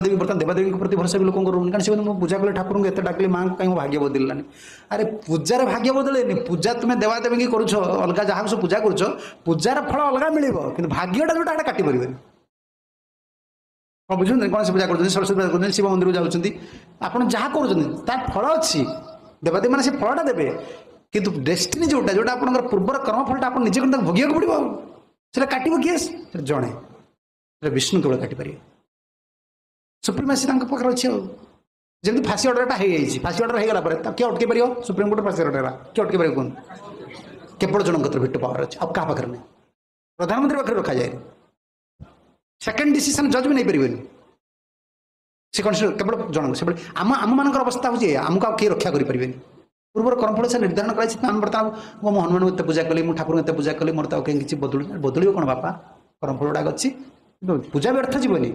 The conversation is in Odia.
ଦେବୀ ବର୍ତ୍ତମାନ ଦେବାଦେବୀଙ୍କ ପ୍ରତି ଭରସା ବି ଲୋକଙ୍କର ରହୁନି। କାରଣ ସେ ମୁଁ ପୂଜା କଲେ, ଠାକୁରଙ୍କୁ ଏତେ ଡାକିଲି, ମାଆଙ୍କୁ, କାହିଁ ମୋ ଭାଗ୍ୟ ବଦଳିଲାନି? ଆରେ, ପୂଜାରେ ଭାଗ୍ୟ ବଦଳେନି। ପୂଜା ତୁମେ ଦେବାଦେବୀଙ୍କି କରୁଛ, ଅଲଗା ଯାହାକୁ ସବୁ ପୂଜା କରୁଛ, ପୂଜାର ଫଳ ଅଲଗା ମିଳିବ, କିନ୍ତୁ ଭାଗ୍ୟଟା ଯୋଉଟା ଏଟା କାଟି ପାରିବେନି। କ'ଣ ବୁଝୁଛନ୍ତି? ଗଣେଶ ପୂଜା କରୁଛନ୍ତି, ସରସ୍ୱତୀ ପୂଜା କରୁଛନ୍ତି, ଶିବ ମନ୍ଦିରକୁ ଯାଉଛନ୍ତି, ଆପଣ ଯାହା କରୁଛନ୍ତି ତାର ଫଳ ଅଛି। ଦେବାଦେବୀ ମାନେ ସେ ଫଳଟା ଦେବେ, କିନ୍ତୁ ଡେଷ୍ଟିନି ଯୋଉଟା, ଯୋଉଟା ଆପଣଙ୍କର ପୂର୍ବର କର୍ମଫଳଟା, ଆପଣ ନିଜେ ତାକୁ ଭୋଗିବାକୁ ପଡ଼ିବ। ଆଉ ସେଟା କାଟିବ କିଏ? ସେଟା ଜଣେ, ସେଟା ବିଷ୍ଣୁ କେବଳ କାଟିପାରିବେ। ସୁପ୍ରିମାସି ତାଙ୍କ ପାଖରେ ଅଛି। ଆଉ ଯେମିତି ଫାଶୀ ଅର୍ଡ଼ରଟା ହେଇଯାଇଛି, ଫାଶୀ ଅର୍ଡ଼ର ହେଇଗଲା ପରେ ତାକୁ କିଏ ଅଟକେଇ ପାରିବ? ସୁପ୍ରିମକୋର୍ଟ ଫାଶୀ ଅର୍ଡ଼ର ହେଲା, କିଏ ଅଟକେଇ ପାରିବ କୁହନ୍ତୁ? କେବଳ ଜଣଙ୍କ କତିରେ ଭିଟୋ ପାୱାର ଅଛି, ଆଉ କାହା ପାଖରେ ନାହିଁ। ପ୍ରଧାନମନ୍ତ୍ରୀ ପାଖରେ ରଖାଯାଏନି। ସେକେଣ୍ଡ ଡିସିସନ୍ ଜଜ୍ ବି ନେଇପାରିବେନି। ସେ କନସିଡର କେବଳ ଜଣଙ୍କୁ। ସେଭଳି ଆମମାନଙ୍କର ଅବସ୍ଥା ହେଉଛି ଏଇଆ, ଆମକୁ ଆଉ କେହି ରକ୍ଷା କରିପାରିବେନି। ପୂର୍ବର କର୍ମଫଳ ସେ ନିର୍ଦ୍ଧାରଣ କରାଯାଇଛି। ଆମେ ବର୍ତ୍ତମାନ ମୁଁ ହନୁମାନଙ୍କୁ ଏତେ ପୂଜା କଲି, ମୁଁ ଠାକୁରଙ୍କୁ ଏତେ ପୂଜା କଲି, ମୋର ତ ଆଉ କେହି କିଛି ବଦଳୁ, ବଦଳିବ କ'ଣ ବାପା? କର୍ମଫଳ ଗୁଡ଼ାକ ଅଛି, କିନ୍ତୁ ପୂଜା ବ୍ୟର୍ଥ ଯିବନି।